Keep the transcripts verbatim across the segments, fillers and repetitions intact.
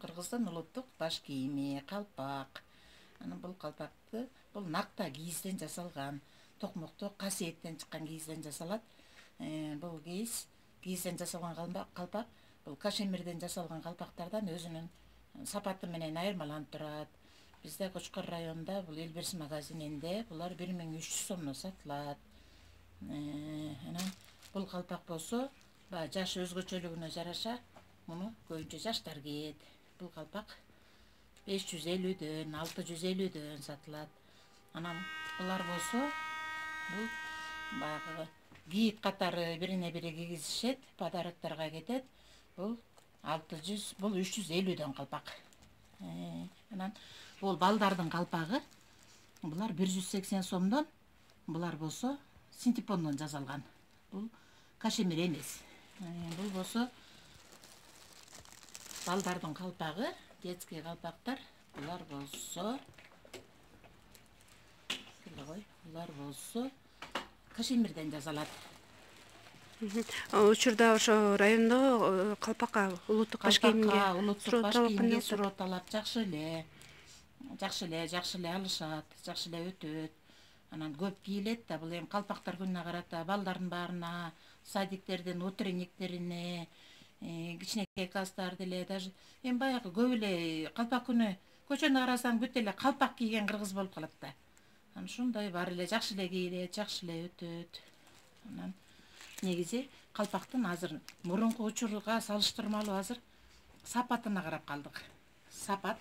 Кыргыздын улуттук баш кийими калпак. Анан бул калпакты бул накта кийизден жасалган, токмокту касиеттен чыккан кийизден жасалат. Бул кийиз кийизден жасалган калпак бул кашемирден жасалган калпактардан өзүнүн сапаты менен айырмаланып турат. Бизде Кочкор районунда бул Элберс магазининде булар бир миң үч жүз сомдон сатылат. Анан бул калпак болсо, баягы жаш өзгөчөлүгүнө жараша муну көбүнчө жаштар кийет. Бул калпак беш жүз элүүдөн, алты жүз элүүдөн сатылат. Анан булар болсо, бул баягы кийик катары бирине бири кийгизишет, подарокторго кетет. Бул алты жүз, бул үч жүз элүүдөн калпак. Анан бул балдардын калпагы, булар бир жүз сексен сомдон, булар болсо синтепондон жасалган. Бул кашемир эмес. Бул болсо балдардын калпагы, детский калпактар. Булар болсо, булар болсо кашемирден жасалат. Учурда ошо райондо калпакка улуттук баш кийимге улуттук баш кийимге суроо талап жакшы эле. Жакшы эле, жакшы эле алышат, жакшы эле өтөт. Анан көп кийилет да, бул эми калпактар күнүнө карата балдардын баарына, садиктердин утренниктерине, кичинекей класстар деле, даже эми баягы көп эле калпак күнү көчөнү карасаң бүт эле калпак кийген кыргыз болуп калат да. Анан ушундай баары эле жакшы эле кийилет, жакшы эле өтөт. Анан негизи калпактын азыр мурунку учурга салыштырмалуу азыр сапатына карап калдык. Сапат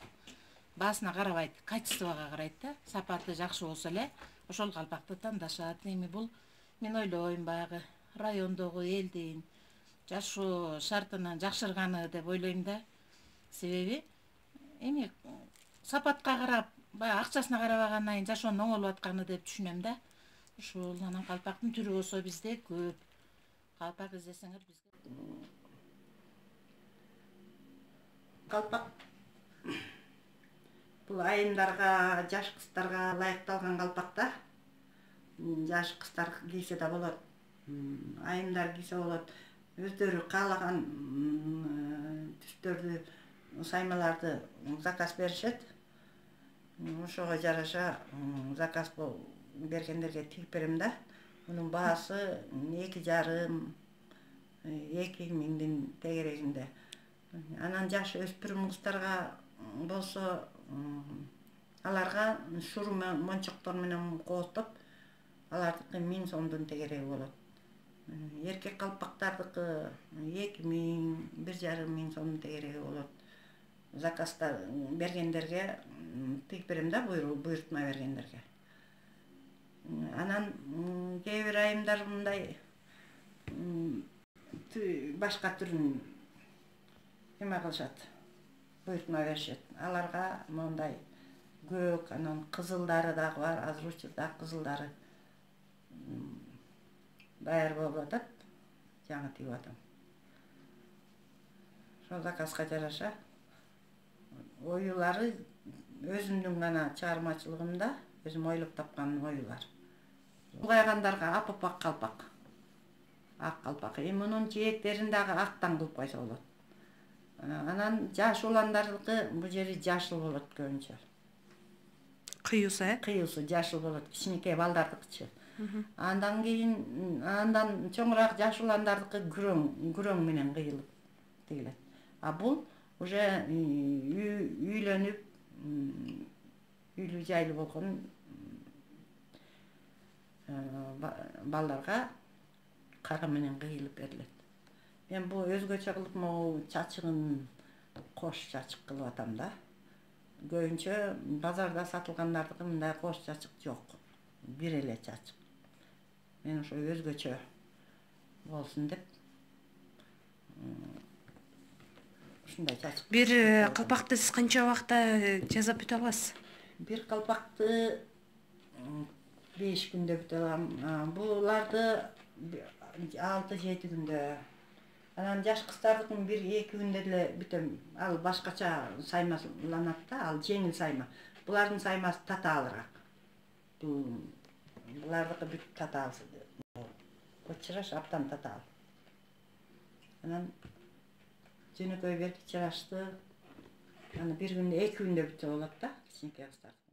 баасына карабайт, качествого карайт да. Сапаты жакшы болсо эле ошол калпакты тандашат. Эми бул мен ойлойм баягы райондогу элдин жашоо шартынын жакшырганы деп ойлойм да. Себеби эми сапатка карап, баягы акчасына карабагандан кийин жашоонун оңолуп атканы деп түшүнөм да. Ушул анан калпактын түрү болсо бизде көп. Калпак издесеңер бизге калпак бул айымдарга, жаш кыздарга ылайыкталган калпак да. Жаш кыздар кийсе да болот, айымдар кийсе болот. Өздөрү каалаган түстөрдү, саймаларды заказ беришет. Ошого жараша заказ бергендерге тигип берем да. Мунун баасы эки жарым, эки миңдин тегерегинде. Анан жаш өспүрүм кыздарга болсо, аларга шуру мончоктор менен кооздоп, алардыкы миң сомдун тегереги болот. Эркек калпактардыкы эки миң, бир жарым миң сомдун тегереги болот. Заказда бергендерге тигип берем да, буйрутма бергендерге. Анан кээ бир айымдар мындай башка түрүн эме кылышат, буйрутма беришет. Аларга мондай көк, анан кызылдары дагы бар, азыр учурда кызылдары даяр болуп атат. Жаңы тигип атам. Ошол заказга жараша оюлары өзүмдүн гана чыгармачылыгымда өзүм ойлоп тапкан оюлар. Улгайгандарга апапак калпак, ак калпак. Эми мунун жээктерин дагы актан кылып койсо болот. Анан жаш уландардыкы бул жери жашыл болот көбүнчө. Кыюусу, э? Кыюусу жашыл болот, кичинекей балдардыкычы. Андан кийин, андан чоңураак жаш уландардыкы күрөң, күрөң менен кыйылып тигилет. А бул уже үйлөнүп, үйлүү жайлуу болгон балдарга кара менен кыйылып берилет. Мен бул өзгөчө кылып могу чачыгын кош чачык кылып атам да. Көбүнчө базарда сатылгандардыкы мындай кош чачык жок. Бир эле чачык. Мен ошо өзгөчө болсун деп ушундай чачык. Бир калпакты сиз канча убакта жасап бүтө аласыз? Бир калпакты беш күндө бүтө алам. Буларды алты жети күндө. Анан жаш кыздардыкын бир эки күндө эле бүтөм. Ал башкача саймаланат да, ал жеңил сайма. Булардын саймасы татаалыраак. Булардыкы бүт татаалсыз. Чыраш аптан татаал. Анан жөнөкөй берки чырашты аны бир күндө эки күндө бүтө болот да кичинекей кыздардыкы.